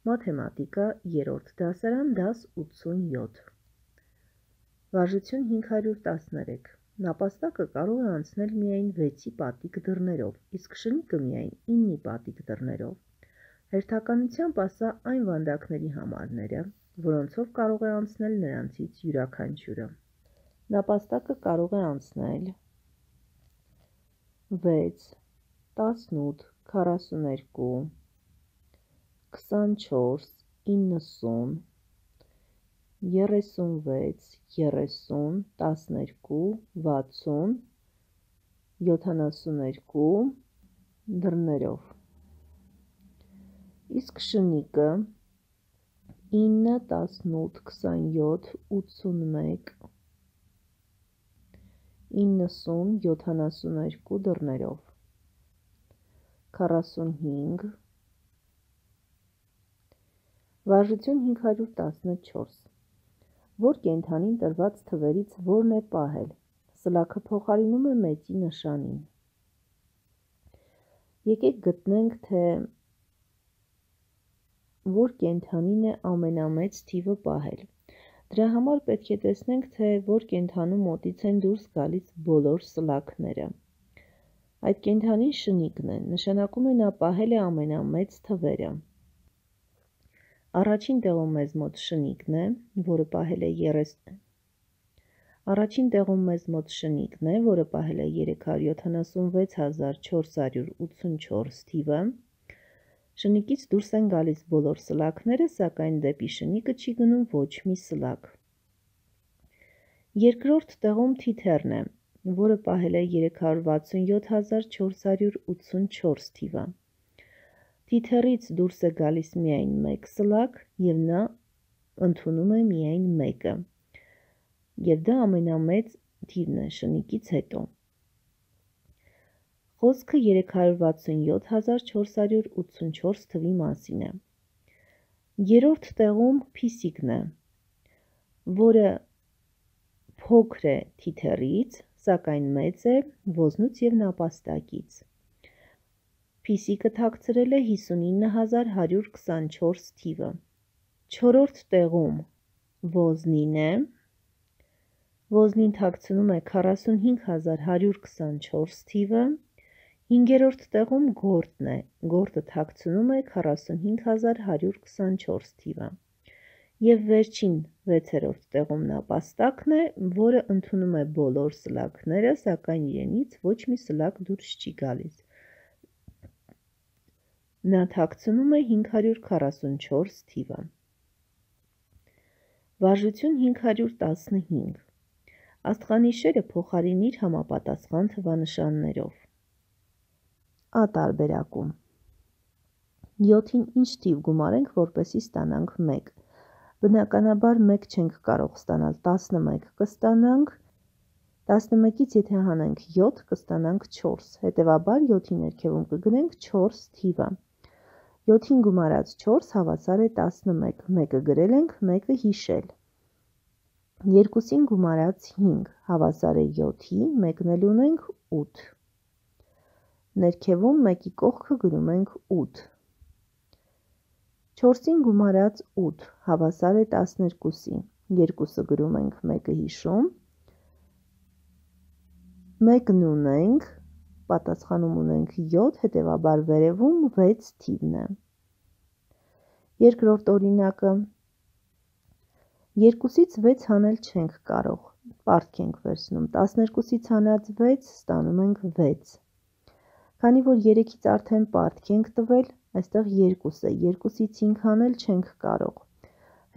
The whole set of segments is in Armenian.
Մաթեմատիկա 3-րդ դասարան դաս 87 Վարժություն 513 Նապաստակը կարող է անցնել միայն 6-ի պատիկ դռներով, իսկ շնիկը միայն 9-ի պատիկ դռներով։ Հերթականությամբ ասա այն վանդակների համարները, որոնցով կարող է անցնել նրանցից յուրաքանչյուրը։ Նապաստակը կարող է անցնել 6, 18, 42, 24, 90, 36, 30, 12, 60, 72 դռներով։ Իսկ շնիկը 9, 18, 27, 81, 90, 72 դռներով։ 45 Վարժություն 514 Որ կենդանին տրված թվերից որն է պահել, սլաքը փոխարինում է մեծի նշանին։ Եկեք գտնենք, թե որ կենդանին է ամենամեծ թիվը պահել։ Դրա համար պետք է տեսնենք, թե որ կենդանու մոտից են դուրս գալիս բոլոր սլաքները։ Այդ կենդանին շնիկն է, նշանակում է նա պահել է ամենամեծ թվերը։ Առաջին տեղում մեզ մոտ շնիկն է, որը պահել է 376484 թիվը։ Շնիկից դուրս են գալիս բոլոր սլաքները, սակայն դեպի շնիկը չի գնում ոչ մի սլաք։ Երկրորդ տեղում թիթեռն է, որը պահել է 367484 թիվը։ Թիթեռից դուրս է գալիս միայն մեկ սլաք և նա ընդունում է միայն մեկը, և դա ամենամեծ թիվն է շնիկից հետո։ Խոսքը 367484 թվի մասին է։ Երրորդ տեղում փիսիկն է, որը փոքր է թիթեռից, սակայն մեծ է ոզնուց և նապաստակից։ Փիսիկը թաքցրել է 59124 թիվը։ Չորրորդ տեղում ոզնին է, ոզնին թաքցնում է 45124 թիվը։ Հինգերորդ տեղում գորդն է, գորդը թաքցնում է 45124 թիվը։ Եվ վերջին 6-րդ տեղում նապաստակն է, որը ընդունում է բոլոր սլաքները, սակայն իրենից ոչ մի սլաք դուրս չի գալիս։ Նա թաքցնում է 544 թիվը։ Վարժություն 515 Աստղանիշերը փոխարինիր համապատասխան թվանշաններով։ Ա տարբերակում 7-ին ինչ թիվ գումարենք, որպեսզի ստանանք 1։ Բնականաբար 1 չենք կարող ստանալ, 11 կստանանք, 11-ից եթե հանենք 7 կստանանք 4, հետևաբար 7-ի ներքևում կգրենք 4 թիվը։ 7-ին գումարած 4 հավասար է 11, 1-ը գրել ենք, 1-ը հիշել։ 2-ին գումարած 5 հավասար է 7-ի, 1-ն էլ ունենք 8։ Ներքևում 1-ի կողքը գրում ենք 8։ 4-ին գումարած 8 հավասար է 12-ի, 2-ը գրում ենք, 1-ը հիշում։ 1-ն ունենք, պատասխանում ունենք 7, հետևաբար վերևում 6 թիվն է։ Երկրորդ օրինակը 2-ից 6 հանել չենք կարող, պարտք ենք վերցնում, 12-ից հանած 6 ստանում ենք 6։ Քանի որ 3-ից արդեն պարտք ենք տվել, այստեղ 2 է, 2-ից 5 հանել չենք կարող,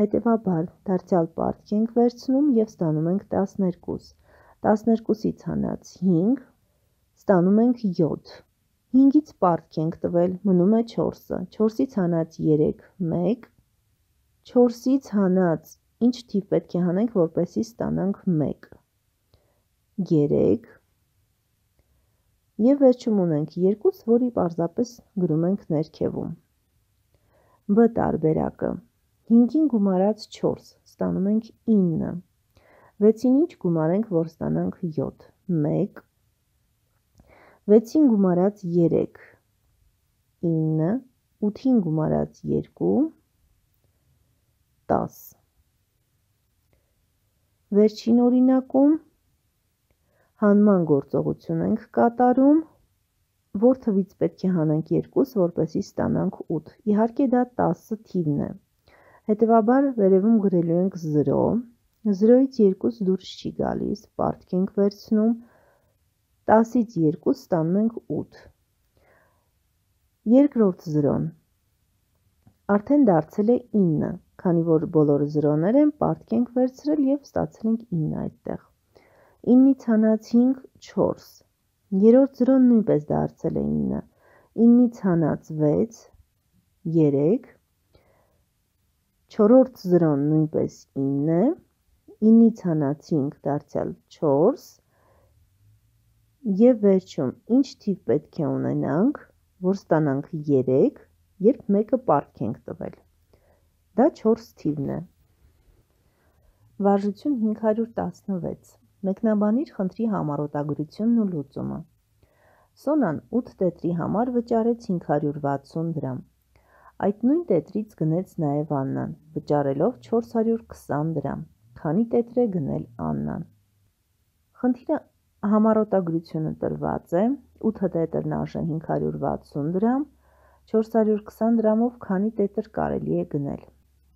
հետևաբար դարձյալ պարտք ենք վերցնում և ստանում ենք 12, 12-ից հանած 5 ստանում ենք 7, 5-ից պարտք ենք տվել, մնում է 4-ը, 4-ից հանած 3, 1, 4-ից հանած ինչ թիվ պետք է հանենք, որպեսզի ստանանք 1, 3 և վերջում ունենք 2, որի պարզապես գրում ենք ներքևում։ Բ տարբերակը 5-ին գումարած 4 ստանում ենք 9, 6-ին ինչ գումարենք, որ ստանանք 7, 1, 6-ին գումարած 3, 9, 8-ին գումարած 2, 10։ Վերջին օրինակում հանման գործողություն ենք կատարում, որ թվից պետք է հանենք 2, որպեսզի ստանանք 8։ Իհարկե դա 10 թիվն է։ Հետևաբար վերևում գրելու ենք 0, 0-ից 2 դուրս չի գալիս, պարտք ենք վերցնում, 10-ից 2 ստանում ենք 8։ Երկրորդ 0-ն արդեն դարձել է 9, քանի որ բոլորը 0-ներ են, պարտք ենք վերցրել և ստացել ենք 9 այդտեղ։ 9-ից հանած 5, 4, երրորդ 0-ն նույնպես դարձել է 9, 9-ից հանած 6, 3, չորրորդ 0-ն նույնպես 9 է, 9-ից հանած 5 դարձյալ 4, և վերջում ինչ թիվ պետք է ունենանք, որ ստանանք 3, երբ մեկը պարտք ենք տվել։ Դա 4 թիվն է։ Վարժություն 516։ Մեկնաբանիր խնդրի համառոտագրությունն ու լուծումը։ Սոնան 8 տետրի համար վճարեց 560 դրամ։ Այդ նույն տետրից գնեց նաև Աննան, վճարելով 420 դրամ։ Քանի տետր է գնել Աննան։ Խնդիրը համառոտագրությունը տրված է, 8 տետրն արժե 560 դրամ, 420 դրամով քանի տետր կարելի է գնել։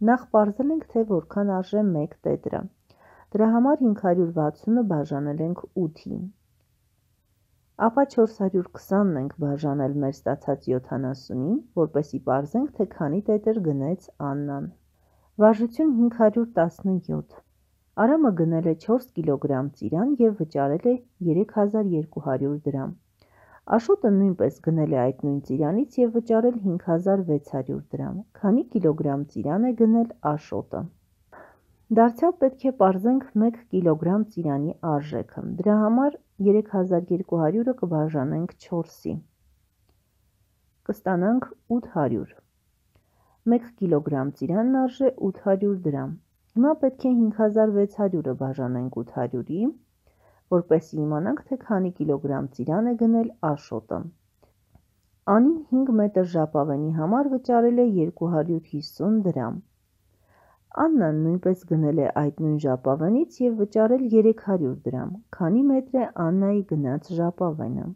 Նախ պարզել ենք, թե որքան արժե 1 տետրը։ Դրա համար 560-ը բաժանել ենք 8-ի։ Ապա 420-ն ենք բաժանել մեր ստացած 70-ին, որպեսզի պարզենք, թե քանի տետր գնեց Աննան։ Վարժություն 517։ Արամը գնել է 4 կիլոգրամ ծիրան և վճարել է 3200 դրամ։ Աշոտը նույնպես գնել է այդ նույն ծիրանից և վճարել 5600 դրամ։ Քանի կիլոգրամ ծիրան է գնել Աշոտը։ Դարձյալ պետք է պարզենք 1 կիլոգրամ ծիրանի արժեքը։ Դրա համար 3200-ը կբաժանենք 4-ի։ Կստանանք 800։ 1 կիլոգրամ ծիրանն արժե 800 դրամ։ Հիմա պետք է 5600-ը բաժանենք 800-ի, որպեսզի իմանանք, թե քանի կիլոգրամ ծիրան է գնել Աշոտը։ Անին 5 մետր ժապավենի համար վճարել է 250 դրամ։ Աննան նույնպես գնել է այդ նույն ժապավենից և վճարել 300 դրամ։ Քանի մետր է Աննայի գնած ժապավենը։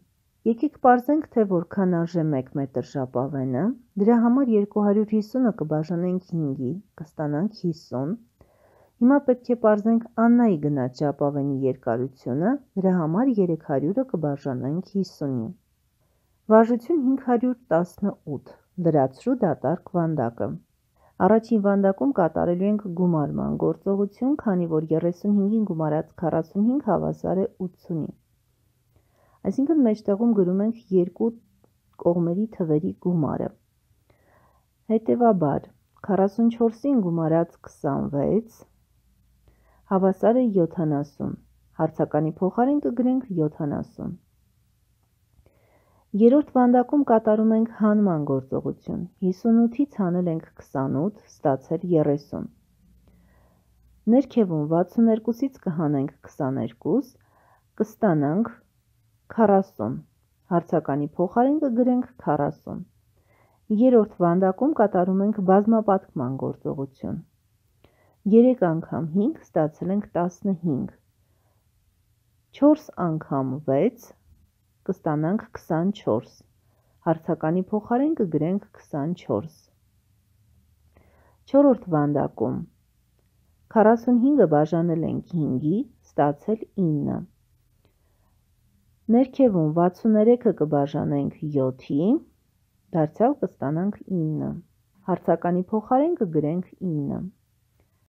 Եկեք պարզենք, թե որքան արժե 1 մետր ժապավենը։ Դրա համար 250-ը կբաժանենք 5-ի, կստանանք 50։ Հիմա պետք է պարզենք Աննայի գնած ժապավենի երկարությունը, դրա համար 300-ը կբաժանենք 50-ի։ Վարժություն 518։ Լրացրու դատարկ վանդակը։ Առաջին վանդակում կատարելու ենք գումարման գործողություն, քանի որ 35-ին գումարած 45 հավասար է 80-ի։ Այսինքն մեջտեղում գրում ենք երկու կողմերի թվերի գումարը։ Հետևաբար 44-ին գումարած 26 հավասար է 70, հարցականի փոխարեն կգրենք 70։ Երրորդ վանդակում կատարում ենք հանման գործողություն, 58-ից հանել ենք 28, ստացել 30։ Ներքևում 62-ից կհանենք 22, կստանանք 40, հարցականի փոխարեն կգրենք 40։ Երրորդ վանդակում կատարում ենք բազմապատկման գործողություն, 3 անգամ 5 ստացել ենք 15, 4 անգամ 6 կստանանք 24, հարցականի փոխարեն կգրենք 24։ Չորրորդ վանդակում 45-ը բաժանել ենք 5-ի, ստացել 9։ Ներքևում 63-ը կբաժանենք 7-ի, դարձյալ կստանանք 9, հարցականի փոխարեն կգրենք 9։